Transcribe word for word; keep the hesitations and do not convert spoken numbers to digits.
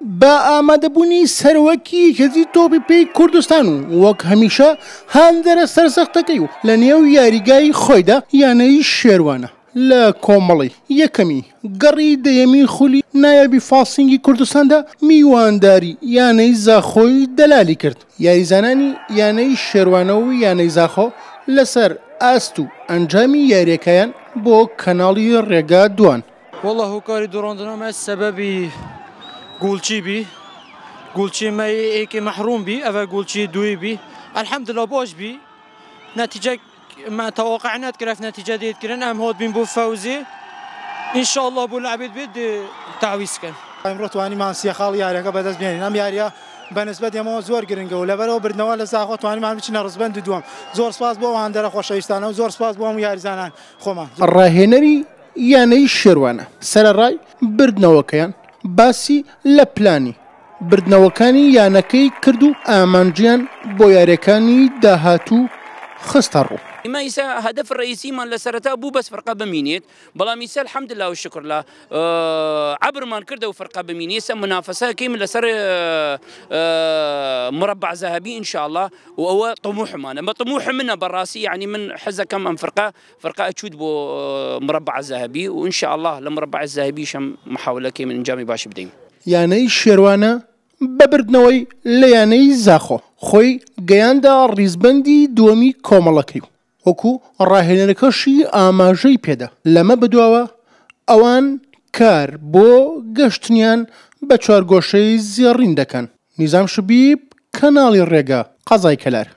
بە ئامادەبوونی سەرۆکی یەکێتی تۆپی پێی کوردستان و وەک هەمیشە هاندەرە سەرسەختەکەی و لە نێو یاریگای خۆیدا یانەی شێروانە لە کۆمەڵی یەکەمی گەڕی دەیەمی خولی نایابی فاسینگی کوردستاندا میوانداری یانەی زاخۆی دەلالی کرد. یاریزانانی یانەی شێروانە و یانەی زاخۆ لەسەر ئاست و ئەنجامی یاریەکەیان بۆ کەناڵی ڕێگا دوان. والله هۆکاری دوڕاندنەوە سەبەبی گۆڵچی بی، گۆڵچی مە ئێکی مەحروم بی، ئەوە گۆڵچی دوی بی، الحمدلله باش بی، نەتیجە ما توقع نەتکرد نەتیجە دێت کردن، ئەم هات بین بۆ فەوزی إن شاء الله بۆ لعبێت بێت تعویز کەن. ئەمڕۆ توانیمان سێ خاڵ یاریەکە بەدەست بێنین. ئەم یاریە بەنسبەت ئێمەوە زۆر گرنگە و لەبەرەوە بردنەوە لە زاخۆ توانیمان بچینە ڕزبەند دووەم. زۆر سپاس بۆ هاندەرە خۆشەویستانە و زۆر سپاس بۆ هەموو یاریزانان خۆمان. ڕاهێنەری یانەی شێروانە سەرەڕای بردنەوەکەیان باسی لە پلانی بردنەوەکانی یانەکەی کرد و ئامانجیان بۆ یاریەکانی داهاتوو خستە ڕوو. ئێمە ئیسا هەدەف ڕئیسیمان لە سەرەتا بوو بەس فرقە بمینێت، بەڵام ئیسا الحمدلله و شکر لە عبرمان کردە و فرقە بمینێ. ئێستا منافەسەکەی من لەسەر مربع ذهبي إن شاء الله، و ئەوە طموحمانە. بە طموح منە بەڕاستی، یعنی من حەزەکەم ئەم فرقە فرقە ئەچوت بۆ مربع ذهبي، و إن شاء الله لە مربع ذهبیشم محاولەکەی من ئەنجامی باش بدەین. یانەی شێروانە بە بردنەوەی لە یانەی زاخۆ خۆی گەیاندە ڕیزبەندی دووەمی کۆمەڵەکەی، وەکو ڕاهێنەرەکەشی ئاماژەی پێدا. لەمە بدواوە ئەوان کار بۆ گەشتنیان بە چوارگۆشەی زێڕین دەکەن. نیزام شبیب، کەناڵی ڕێگا، قەزای کەلار.